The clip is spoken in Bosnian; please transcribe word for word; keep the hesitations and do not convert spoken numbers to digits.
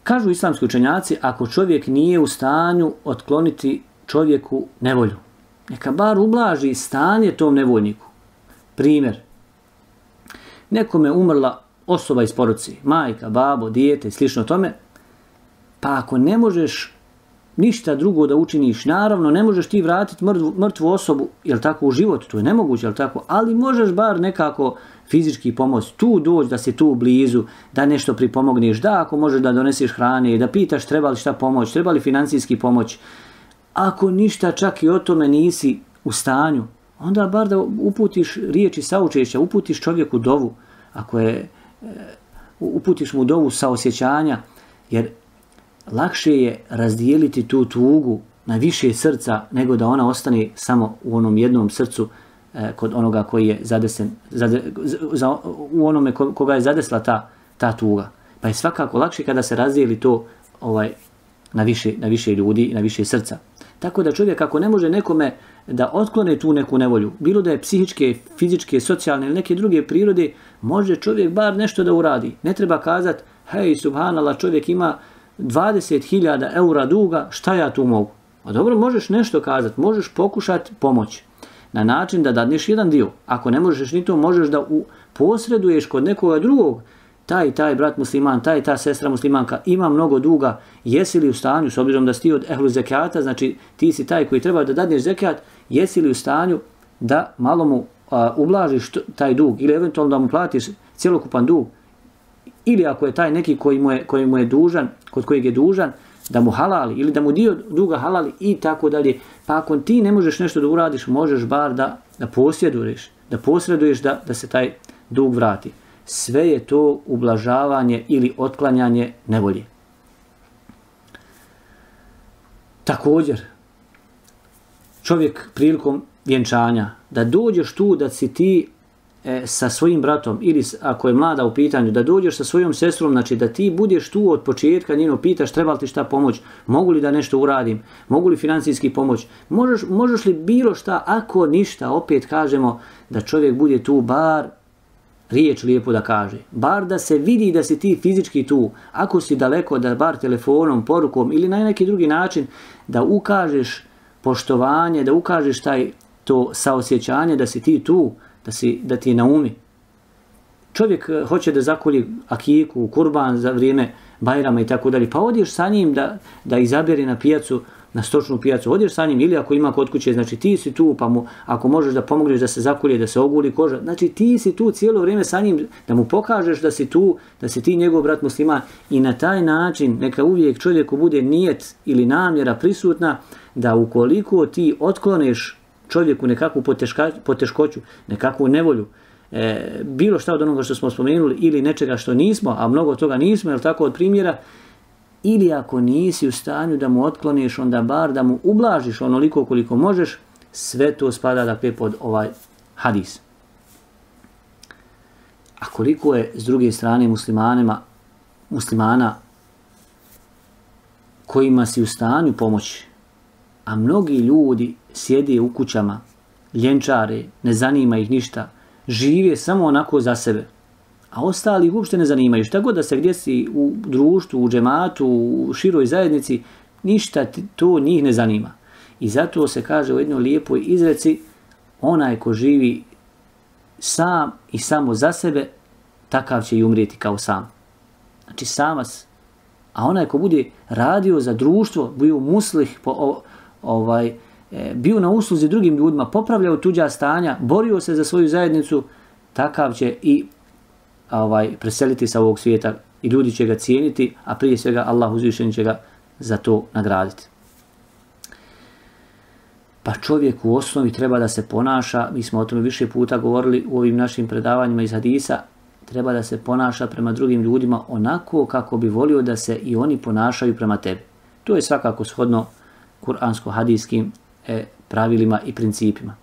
Kažu islamski učenjaci, ako čovjek nije u stanju otkloniti čovjeku nevolju, neka bar ublaži stanje tom nevoljniku. Primjer, nekome umrla osoba iz porodice, majka, babo, dijete i slično tome, pa ako ne možeš ništa drugo da učiniš, naravno ne možeš ti vratiti mrtvu, mrtvu osobu, jel tako, u život, to je nemoguće, jel tako, ali možeš bar nekako fizički pomoć, tu doći, da si tu blizu, da nešto pripomogneš, da ako možeš da doneseš hrane, da pitaš treba li šta pomoć, treba li financijski pomoć. Ako ništa čak i o tome nisi u stanju, onda bar da uputiš riječi saučešća, uputiš čovjeku dovu, ako je, uputiš mu dovu saosjećanja, jer lakše je razdijeliti tu tugu na više srca nego da ona ostane samo u onom jednom srcu eh, kod onoga koji je zadesen, zade, za, u onome koga je zadesla ta, ta tuga. Pa je svakako lakše kada se razdijeli to ovaj, na, više, na više ljudi i na više srca. Tako da čovjek ako ne može nekome da otklone tu neku nevolju, bilo da je psihičke, fizičke, socijalne ili neke druge prirode, može čovjek bar nešto da uradi. Ne treba kazati, hej, subhanallah, čovjek ima dvadeset hiljada eura duga, šta ja tu mogu? A dobro, možeš nešto kazati, možeš pokušati pomoći na način da dadneš jedan dio. Ako ne možeš ni to, možeš da u, posreduješ kod nekoga drugog, taj taj brat musliman, taj ta sestra muslimanka ima mnogo duga, jesi li u stanju, s obzirom da si ti od ehlu zekata, znači ti si taj koji treba da dadneš zekat, jesi li u stanju da malo mu a, ublažiš taj dug ili eventualno da mu platiš cjelokupan dug, ili ako je taj neki koji mu je, koji mu je dužan, kod kojeg je dužan, da mu halali ili da mu dio duga halali i tako dalje. Pa ako ti ne možeš nešto da uradiš, možeš bar da, da posjeduješ, da posreduješ da, da se taj dug vrati. Sve je to ublažavanje ili otklanjanje nevolje. Također, čovjek prilikom vjenčanja, da dođeš tu da si ti e, sa svojim bratom ili ako je mlada u pitanju, da dođeš sa svojom sestrom, znači da ti budeš tu od početka, njeno pitaš treba li ti šta pomoć, mogu li da nešto uradim, mogu li financijski pomoć, možeš, možeš li bilo šta, ako ništa, opet kažemo da čovjek bude tu bar riječ lijepo da kaže, bar da se vidi da si ti fizički tu, ako si daleko da bar telefonom, porukom ili na neki drugi način da ukažeš poštovanje, da ukažeš taj to saosjećanje da si ti tu, da, si, da ti je na umi. Čovjek hoće da zakolji akiku, kurban za vrijeme Bajrama i tako dalje, pa odješ sa njim da, da izaberi na pijacu, na stočnu pijacu, odješ sa njim ili ako ima kod kuće, znači ti si tu, pa mu, ako možeš da pomogneš da se zakolje, da se oguli koža, znači ti si tu cijelo vrijeme sa njim, da mu pokažeš da si tu, da si ti njegov brat musliman i na taj način neka uvijek čovjeku bude nijet ili namjera prisutna da ukoliko ti otkloneš čovjeku nekakvu poteška, poteškoću, nekakvu nevolju, e, bilo šta od onoga što smo spomenuli ili nečega što nismo, a mnogo toga nismo, jel tako, od primjera, ili ako nisi u stanju da mu otkloniš, onda bar da mu ublažiš onoliko koliko možeš, sve to spada dakle pod ovaj hadis. A koliko je s druge strane muslimanima, muslimana kojima si u stanju pomoći, a mnogi ljudi sjede u kućama, ljenčare, ne zanima ih ništa, žive samo onako za sebe, a ostali uopšte ne zanimaju. Šta god da se gdje si u društvu, u džematu, u široj zajednici, ništa to njih ne zanima. I zato se kaže u jednoj lijepoj izreci, onaj ko živi sam i samo za sebe, takav će i umrijeti kao sam. Znači samac. A onaj ko bude radio za društvo, bio muslih, po, ovaj, e, bio na usluzi drugim ljudima, popravljao tuđa stanja, borio se za svoju zajednicu, takav će i ovaj, preseliti sa ovog svijeta i ljudi će ga cijeniti, a prije svega Allah uzvišen će ga za to nagraditi. Pa čovjek u osnovi treba da se ponaša, mi smo o tome više puta govorili u ovim našim predavanjima iz hadisa, treba da se ponaša prema drugim ljudima onako kako bi volio da se i oni ponašaju prema tebi. To je svakako shodno kuransko-hadijskim eh, pravilima i principima.